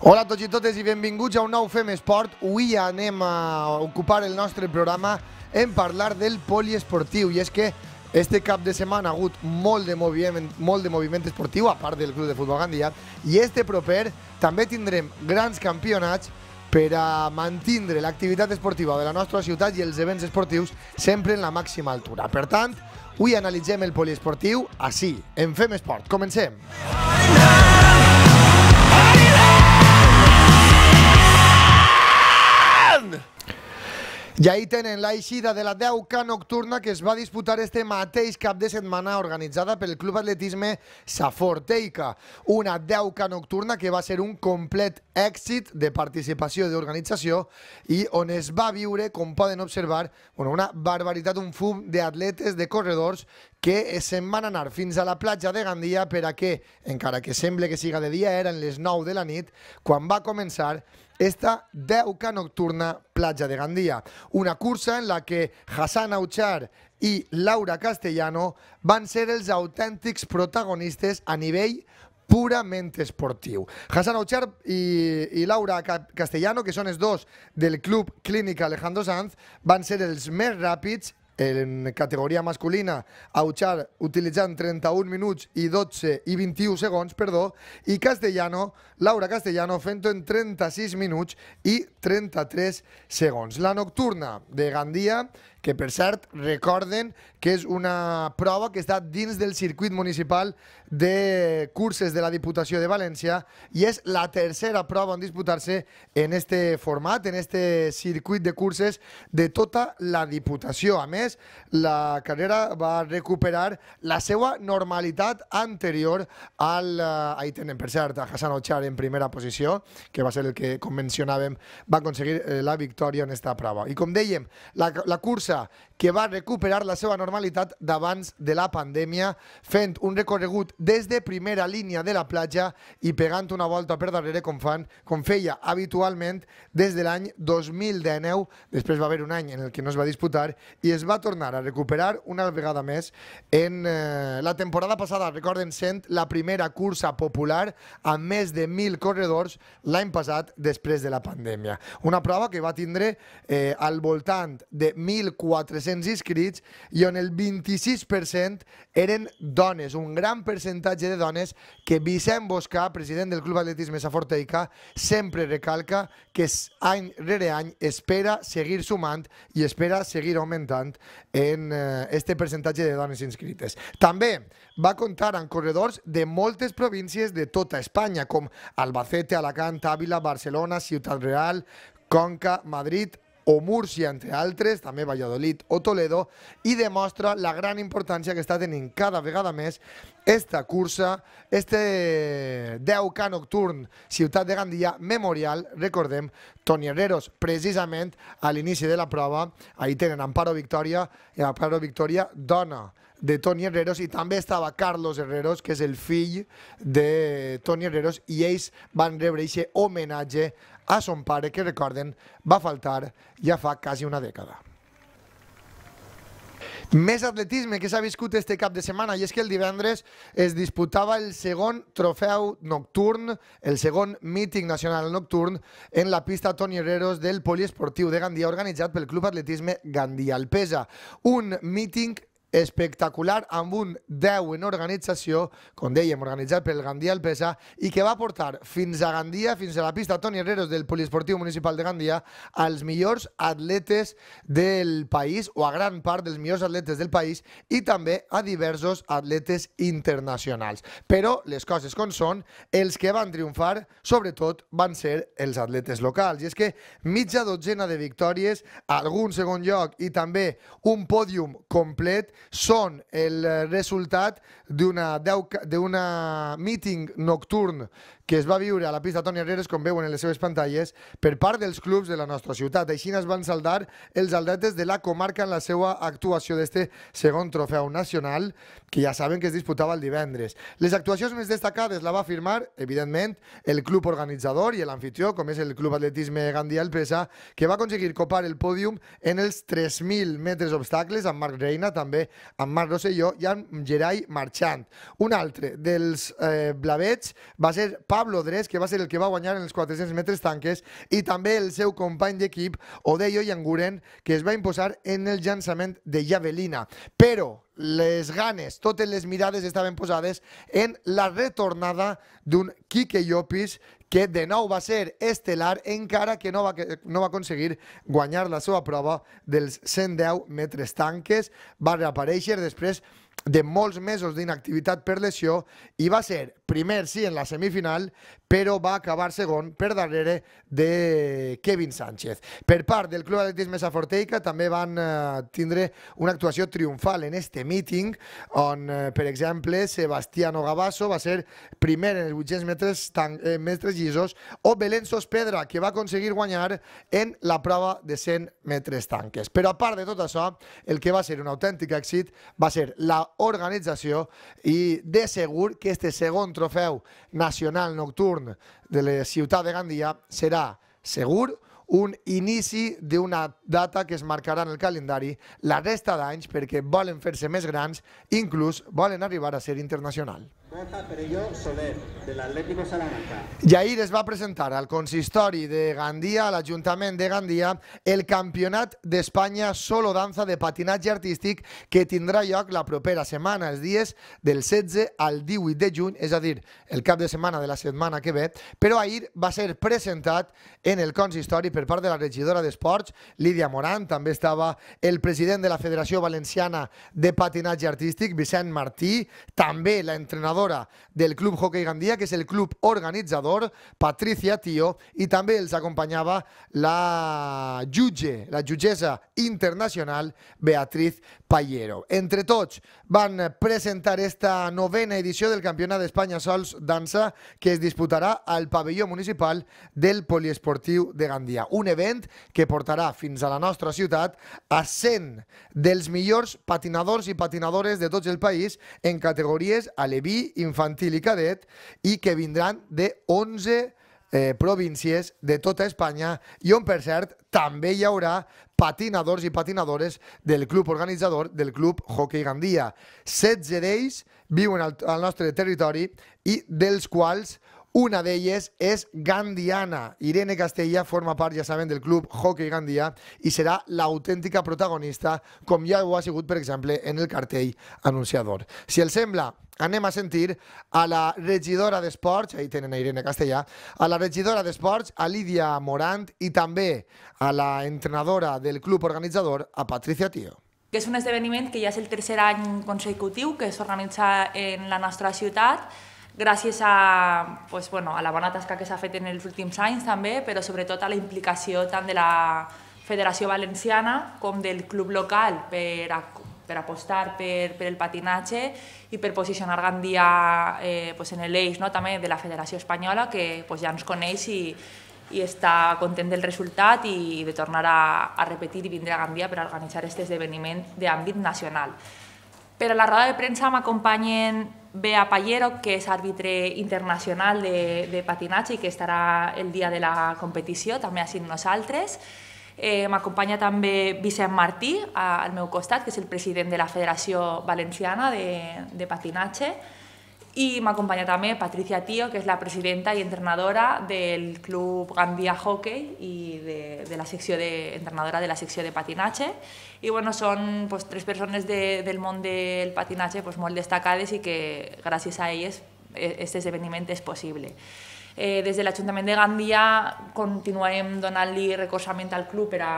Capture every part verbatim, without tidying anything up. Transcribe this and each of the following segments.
Hola a tots i totes i benvinguts a un nou Fem Esport. Avui anem a ocupar el nostre programa en parlar del poliesportiu. I és que este cap de setmana ha hagut molt de moviment, molt de moviment esportiu, a part del Club de Futbol Gandia, i este proper també tindrem grans campionats per a mantindre l'activitat esportiva de la nostra ciutat i els events esportius sempre en la màxima altura. Per tant, avui analitzem el poliesportiu així, en Fem Esport. Comencem! Ja hi tenen la eixida de la deu K nocturna que es va disputar este mateix cap de setmana, organitzada pel Club Atletisme Saforteica. Una deu K nocturna que va ser un complet èxit de participació i d'organització i on es va viure, com poden observar, bueno, una barbaritat, un fum d'atletes, de corredors que se'n van anar fins a la platja de Gandia per a que, encara que sembla que siga de dia, eren les nou de la nit, quan va començar esta deu K nocturna platja de Gandia. Una cursa en la que Hassan Auchar i Laura Castellano van ser els autèntics protagonistes a nivell purament esportiu. Hassan Auchar i, i Laura Castellano, que són els dos del Club Clínica Alejandro Sanz, van ser els més ràpids en categoria masculina, Auchar utilitzant trenta-un minuts i dotze i vint-i-u segons, perdó, i Castellano, Laura Castellano, fent-ho en trenta-sis minuts i trenta-tres segons. La nocturna de Gandia, que per cert recorden que és una prova que està dins del circuit municipal de curses de la Diputació de València i és la tercera prova en disputar-se en este format, en este circuit de curses de tota la Diputació. A més, la carrera va recuperar la seva normalitat anterior al... Ahí tenen, per cert, a Hassan Auchar en primera posició, que va ser el que, com mencionàvem, va aconseguir la victòria en esta prova. I com dèiem, la, la cursa que va recuperar la seva normalitat d'abans de la pandèmia, fent un recorregut des de primera línia de la platja i pegant una volta per darrere com, fan, com feia habitualment des de l'any dos mil dinou. Després va haver un any en el que no es va disputar i es va tornar a recuperar una vegada més en eh, la temporada passada, recorden, sent la primera cursa popular amb més de mil corredors l'any passat després de la pandèmia. Una prova que va tindre eh, al voltant de mil quatre-cents inscrits i on el vint-i-sis per cent eren dones, un gran percentatge de dones que Vicent Boscà, president del Club Atletisme Saforteica, sempre recalca que any rere any espera seguir sumant i espera seguir augmentant en este percentatge de dones inscrites. També va comptar amb corredors de moltes províncies de tota Espanya, com Albacete, Alacant, Àvila, Barcelona, Ciutat Real, Conca, Madrid o Múrcia, entre altres, també Valladolid o Toledo, i demostra la gran importància que està tenint cada vegada més esta cursa, este deu K nocturn Ciutat de Gandia Memorial. Recordem, Toni Herreros, precisament a l'inici de la prova, ahí tenen Amparo Victoria, i Amparo Victoria, dona de Toni Herreros, i també estava Carlos Herreros, que és el fill de Toni Herreros, i ells van rebre aquest homenatge a son pare, que recorden, va faltar ja fa quasi una dècada. Més atletisme que s'ha viscut este cap de setmana, i és que el divendres es disputava el segon trofeu nocturn, el segon míting nacional nocturn en la pista Toni Herreros del poliesportiu de Gandia, organitzat pel Club Atletisme Gandia Alpesa. Un míting espectacular amb un deu en organització, com dèiem, organitzat pel Gandia Alpesa, i que va portar fins a Gandia, fins a la pista Toni Herreros del poliesportiu municipal de Gandia, als millors atletes del país, o a gran part dels millors atletes del país, i també a diversos atletes internacionals. Però les coses com són, els que van triomfar, sobretot, van ser els atletes locals. I és que mitja dotzena de victòries, algun segon lloc i també un pòdium complet són el resultat d'una míting nocturn que es va viure a la pista Toni Herreros, com veuen en les seves pantalles, per part dels clubs de la nostra ciutat. Així es van saldar els atletes de la comarca en la seva actuació d'este segon trofeu nacional, que ja saben que es disputava el divendres. Les actuacions més destacades la va firmar, evidentment, el club organitzador i l'anfitrió, com és el Club Atletisme Gandia Alpesa, que va aconseguir copar el pòdium en els tres mil metres obstacles, amb Marc Reina també amb Marc Rosselló i amb Gerai Marchant. Un altre dels eh, blavets va ser Pablo Dres, que va ser el que va guanyar en els quatre-cents metres tanques, i també el seu company d'equip, Odeyo Yanguren, que es va imposar en el llançament de javelina. Però les ganes, totes les mirades estaven posades en la retornada d'un Quique Llopis, que de nou va ser estel·lar, encara que no va, no va aconseguir guanyar la seva prova dels cent deu metres tanques. Va reaparèixer després de molts mesos d'inactivitat per lesió i va ser primer, sí, en la semifinal, però va acabar segon per darrere de Kevin Sánchez. Per part del Club Atletisme Saforteica també van eh, tindre una actuació triomfal en este míting, on, eh, per exemple, Sebastiano Gabasso va ser primer en els vuit-cents metres, eh, metres llisos, o Belén Sospedra, que va aconseguir guanyar en la prova de cent metres tanques. Però a part de tot això, el que va ser un autèntic èxit va ser la organització, i de segur que este segon trofeu nacional nocturn de la ciutat de Gandia serà segur un inici d'una data que es marcarà en el calendari la resta d'anys, perquè volen fer-se més grans, inclús volen arribar a ser internacional. Borja Perelló Soler, de l'Atlético Salamanca. I ahir es va presentar al consistori de Gandia, a l'Ajuntament de Gandia, el Campionat d'Espanya Solo Danza de patinatge artístic, que tindrà lloc la propera setmana, els dies del setze al divuit de juny, és a dir, el cap de setmana de la setmana que ve, però ahir va ser presentat en el consistori per part de la regidora d'Esports, Lídia Morant. També estava el president de la Federació Valenciana de Patinatge Artístic, Vicent Martí, també l'entrenador del Club Hockey Gandia, que és el club organitzador, Patricia Tío, i també els acompanyava la jutge, la jutgessa internacional, Beatriz Pallero. Entre tots van presentar esta novena edició del Campionat d'Espanya Sols Dansa, que es disputarà al pavelló municipal del Poliesportiu de Gandia. Un event que portarà fins a la nostra ciutat a cent dels millors patinadors i patinadores de tots el país en categories aleví, infantil i cadet, i que vindran de onze eh, províncies de tota Espanya, i on, per cert, també hi haurà patinadors i patinadores del club organitzador del Club Hockey Gandia. setze d'ells viuen al, al nostre territori, i dels quals una d'elles és gandiana. Irene Castella forma part, ja saben, del Club Hockey Gandia i serà l'autèntica protagonista, com ja ho ha sigut, per exemple, en el cartell anunciador. Si els sembla, anem a sentir a la regidora d'Esports, ahí tenen a Irene Castellà, a la regidora d'Esports, a Lídia Morant, i també a la entrenadora del club organitzador, a Patricia Tío. És un esdeveniment que ja és el tercer any consecutiu que s'organitza en la nostra ciutat, gràcies a, pues, bueno, a la bona tasca que s'ha fet en els últims anys també, però sobretot a la implicació tant de la Federació Valenciana com del club local per a per apostar per, per el patinatge i per posicionar Gandia eh, pues en l'eix, no, també de la Federació Espanyola, que pues, ja ens coneix i, i està content del resultat i de tornar a, a repetir i vindre a Gandia per organitzar aquest esdeveniment d'àmbit nacional. Per a la roda de premsa m'acompanyen Bea Pallero, que és àrbitre internacional de, de patinatge i que estarà el dia de la competició, també així nosaltres. Eh, M'acompanya també Vicent Martí, a, al meu costat, que és el president de la Federació Valenciana de, de Patinatge, i m'acompanya també Patricia Tío, que és la presidenta i entrenadora del Club Gandia Hockey i de, de la secció de, entrenadora de la secció de patinatge. I bueno, són pues, tres persones de, del món del patinatge pues, molt destacades i que gràcies a elles aquest esdeveniment és possible. Eh, des de l'Ajuntament de Gandia continuem donant-li recolzament al club per a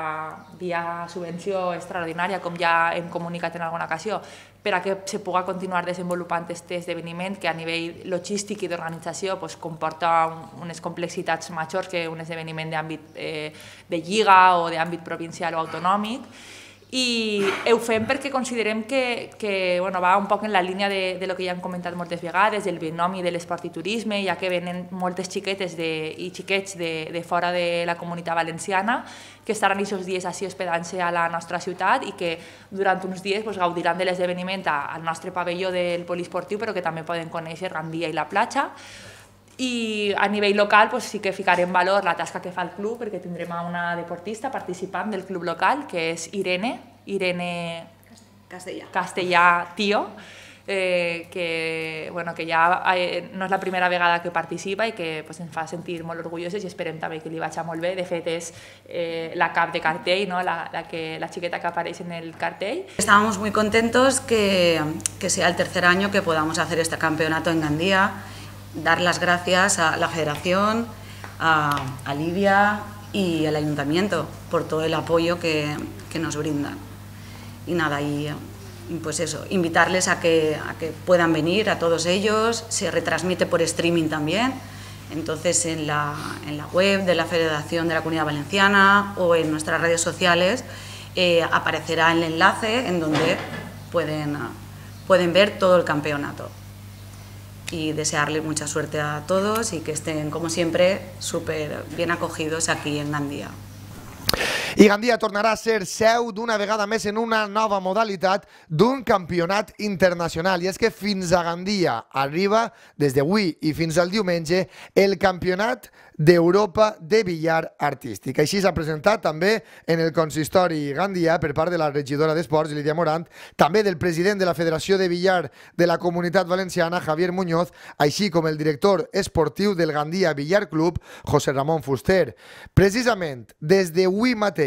via subvenció extraordinària, com ja hem comunicat en alguna ocasió, per a que se pugui continuar desenvolupant aquest esdeveniment que a nivell logístic i d'organització pues, comporta un, unes complexitats majors que un esdeveniment d'àmbit eh, de lliga o d'àmbit provincial o autonòmic. I ho fem perquè considerem que, que bueno, va un poc en la línia de, de lo que ja hem comentat moltes vegades, del binomi de l'esport i turisme, ja que venen moltes xiquetes de, i xiquets de, de fora de la comunitat valenciana que estaran aquests dies així hospedant-se a la nostra ciutat i que durant uns dies pues, gaudiran de l'esdeveniment al nostre pavelló del poliesportiu, però que també poden conèixer Gandia i la platja. I a nivell local pues, sí que ficarem en valor la tasca que fa el club, perquè tindrem una deportista participant del club local, que és Irene, Irene Castellà. Castellà Tío, eh, que, bueno, que ja eh, no és la primera vegada que participa i que pues, ens fa sentir molt orgullosos i esperem també que li vagi molt bé. De fet, és eh, la cap de cartell, ¿no? la, la, que, la xiqueta que apareix en el cartell. Estábamos muy contentos que, que sea el tercer año que podamos hacer este campeonato en Gandía, dar las gracias a la Federación, a, a Lidia y al Ayuntamiento por todo el apoyo que, que nos brindan. Y nada, y pues eso, invitarles a que, a que puedan venir, a todos ellos, se retransmite por streaming también, entonces en la, en la web de la Federación de la Comunidad Valenciana o en nuestras redes sociales eh, aparecerá el enlace en donde pueden, pueden ver todo el campeonato. Y desearles mucha suerte a todos y que estén, como siempre, súper bien acogidos aquí en Gandía. I Gandia tornarà a ser seu d'una vegada més en una nova modalitat d'un campionat internacional. I és que fins a Gandia arriba, des d'avui i fins al diumenge, el Campionat d'Europa de billar artístic. Així s'ha presentat també en el consistori gandià per part de la regidora d'Esports, Lídia Morant, també del president de la Federació de Billar de la Comunitat Valenciana, Javier Muñoz, així com el director esportiu del Gandia Billar Club, José Ramón Fuster. Precisament, des d'avui mateix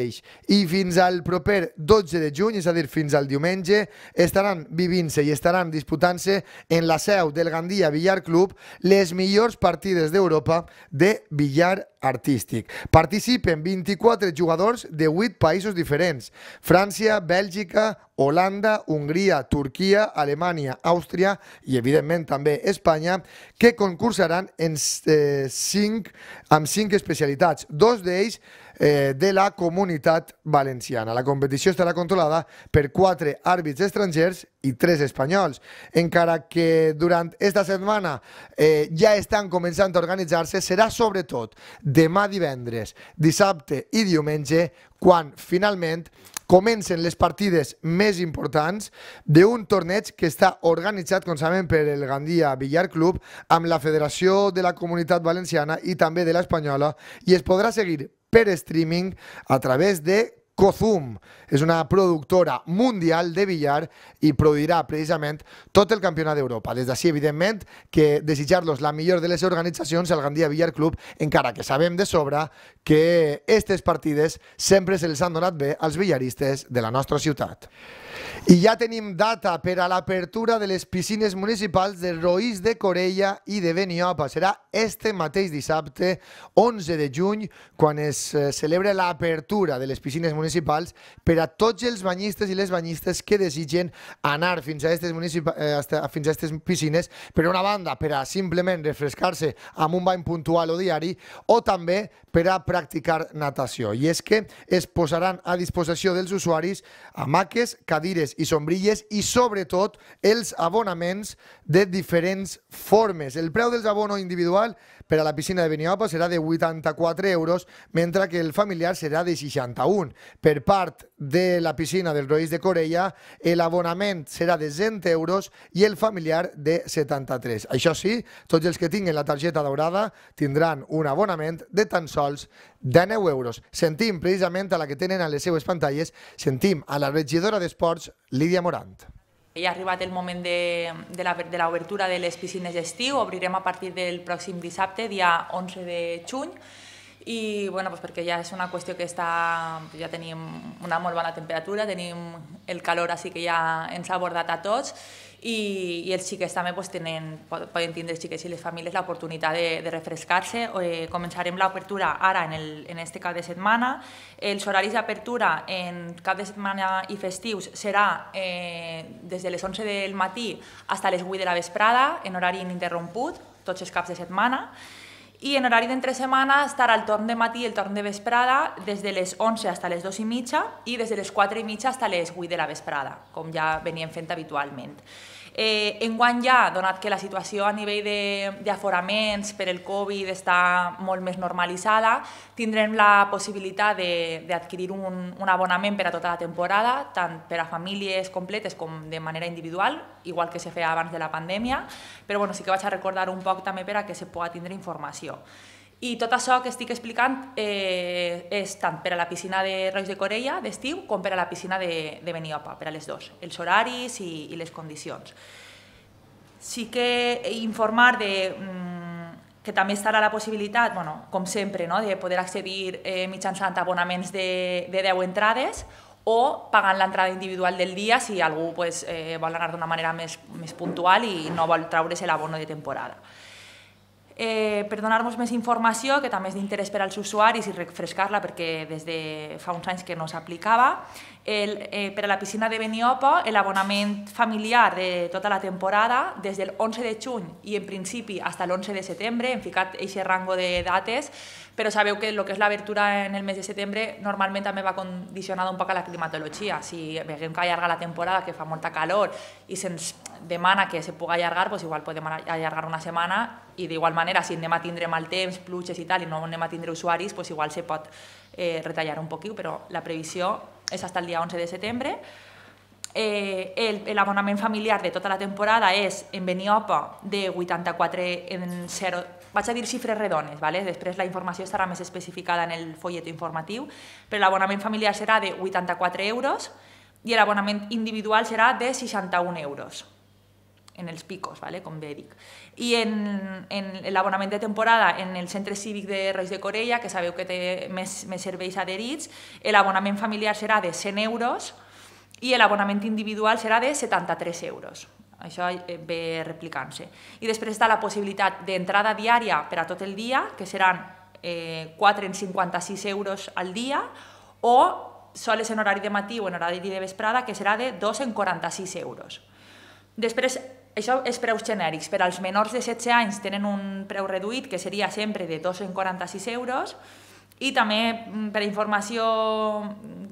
i fins al proper dotze de juny, és a dir, fins al diumenge, estaran vivint-se i estaran disputant-se en la seu del Gandia Billar Club les millors partides d'Europa de billar artístic. Participen vint-i-quatre jugadors de vuit països diferents: França, Bèlgica, Holanda, Hongria, Turquia, Alemanya, Àustria i, evidentment, també Espanya, que concursaran en eh, cinc, amb cinc especialitats, dos d'ells eh, de la Comunitat Valenciana. La competició estarà controlada per quatre àrbits estrangers i tres espanyols, encara que durant esta setmana eh, ja estan començant a organitzar-se. Serà sobretot demà divendres, dissabte i diumenge quan finalment comencen les partides més importants d'un torneig que està organitzat, com sabem, per el Gandia Billar Club amb la Federació de la Comunitat Valenciana i també de l'Espanyola, i es podrà seguir per streaming a través de Cozum. És una productora mundial de billar i produirà precisament tot el campionat d'Europa. Des d'ací, evidentment, que desitjar-los la millor de les organitzacions al Gandia Billar Club, encara que sabem de sobre que aquestes partides sempre se les han donat bé als billaristes de la nostra ciutat. I ja tenim data per a l'apertura de les piscines municipals de Roís de Corella i de Beniopa. Serà este mateix dissabte, onze de juny, quan es celebra l'apertura de les piscines municipals per a tots els banyistes i les banyistes que desitgen anar fins a aquestes piscines, per una banda, per a simplement refrescar-se amb un bany puntual o diari, o també per a practicar natació. I és que es posaran a disposició dels usuaris hamaques, cadires i sombrilles i, sobretot, els abonaments de diferents formes. El preu dels abonos individual per a la piscina de Beniopa serà de vuitanta-quatre euros, mentre que el familiar serà de seixanta-un. Per part de la piscina del Roís de Corella, l'abonament serà de cent euros i el familiar de setanta-tres. Això sí, tots els que tinguin la targeta daurada tindran un abonament de tan sols dinou euros. Sentim precisament a la que tenen a les seues pantalles, sentim a la regidora d'Esports, Lídia Morant. Ja ha arribat el moment de, de l'obertura de les piscines d'estiu. Obrirem a partir del pròxim dissabte, dia onze de juny, i bueno, doncs perquè ja és una qüestió que està, ja tenim una molt bona temperatura, tenim el calor així que ja ens ha abordat a tots, i, i els xiquets també doncs, tenen, poden tindre els xiquets i les famílies l'oportunitat de, de refrescar-se. Eh, començarem l'obertura ara en, el, en este cap de setmana. Els horaris d'apertura en cap de setmana i festius serà eh, des de les onze del matí fins a les vuit de la vesprada, en horari ininterromput, tots els caps de setmana. I en horari d'entre setmana estarà el torn de matí i el torn de vesprada des de les onze fins a les dues i mitja i des de les quatre i mitja fins a les vuit de la vesprada, com ja veníem fent habitualment. Eh, enguany ja, donat que la situació a nivell d'aforaments per el Covid està molt més normalitzada, tindrem la possibilitat d'adquirir un, un abonament per a tota la temporada, tant per a famílies completes com de manera individual, igual que se feia abans de la pandèmia, però bueno, sí que vaig a recordar un poc també per a que se pugui tindre informació. I tot això que estic explicant eh, és tant per a la piscina de Roig de Corella d'estiu com per a la piscina de, de Beniopa, per a les dues, els horaris i, i les condicions. Sí que informar de, mm, que també estarà la possibilitat, bueno, com sempre, no, de poder accedir eh, mitjançant abonaments de, de deu entrades o pagant l'entrada individual del dia si algú pues, eh, vol anar d'una manera més, més puntual i no vol treure's l'abono de temporada. Eh, per donar-nos més informació, que també és d'interès per als usuaris i refrescar-la perquè des de fa uns anys que no s'aplicava, eh, per a la piscina de Beniopa l'abonament familiar de tota la temporada des del onze de juny i en principi fins a l'onze de setembre, hem ficat aquest rango de dates, però sabeu que el que és l'obertura en el mes de setembre normalment també va condicionada un poc a la climatologia. Si veiem que allarga la temporada, que fa molta calor i se'ns demana que se pugui allargar, doncs igual podem allargar una setmana i d'igual manera si anem a tindre mal temps, pluges i tal i no anem a tindre usuaris, doncs igual se pot eh, retallar un poquit, però la previsió és fins al dia onze de setembre. Eh, l'abonament familiar de tota la temporada és en Beniopa de vuitanta-quatre en zero, vaig a dir xifres redones, ¿vale? Després la informació estarà més especificada en el folleto informatiu, però l'abonament familiar serà de vuitanta-quatre euros i l'abonament individual serà de seixanta-un euros en els picos, ¿vale? Com bé dic. I en, en l'abonament de temporada en el centre cívic de Roig de Corella, que sabeu que té més, més serveis adherits, l'abonament familiar serà de cent euros i l'abonament individual serà de setanta-tres euros. Això ve replicant-se. I després està la possibilitat d'entrada diària per a tot el dia, que seran eh, quatre en cinquanta-sis euros al dia, o soles en horari de matí o en horari de vesprada, que serà de dos en quaranta-sis euros. Després, això és preus genèrics. Per als menors de setze anys tenen un preu reduït, que seria sempre de dos en quaranta-sis euros, i també, per informació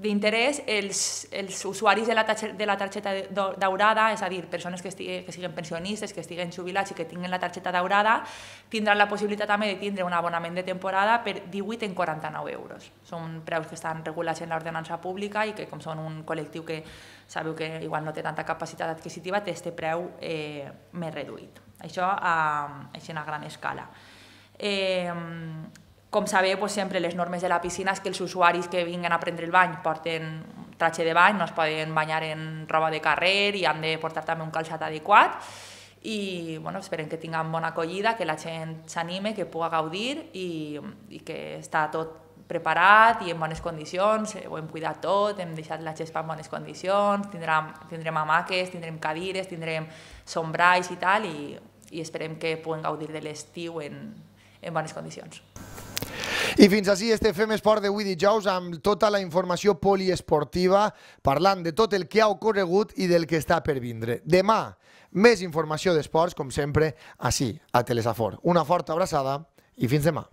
d'interès, els, els usuaris de la, de la targeta daurada, és a dir, persones que, estiguen, que siguin pensionistes, que estiguen jubilats i que tinguin la targeta daurada, tindran la possibilitat també de tindre un abonament de temporada per divuit en quaranta-nou euros. Són preus que estan regulats en l'ordenança pública i que, com són un col·lectiu que sabeu que igual no té tanta capacitat adquisitiva, té aquest preu eh, més reduït. Això a, a gran escala. Eh, Com sabeu, doncs, sempre les normes de la piscina és que els usuaris que vinguen a prendre el bany porten tratge de bany, no es poden banyar en roba de carrer i han de portar també un calçat adequat. I bueno, esperem que tinguem bona acollida, que la gent s'anime, que pugui gaudir i, i que està tot preparat i en bones condicions, ho hem cuidat tot, hem deixat la gespa en bones condicions, tindrem, tindrem hamaques, tindrem cadires, tindrem sombralls i tal, i, i esperem que puguem gaudir de l'estiu en, en bones condicions. I fins així este Fem Esport d'avui dijous amb tota la informació poliesportiva parlant de tot el que ha ocorregut i del que està per vindre. Demà, més informació d'esports, com sempre, així, a Telesafor. Una forta abraçada i fins demà.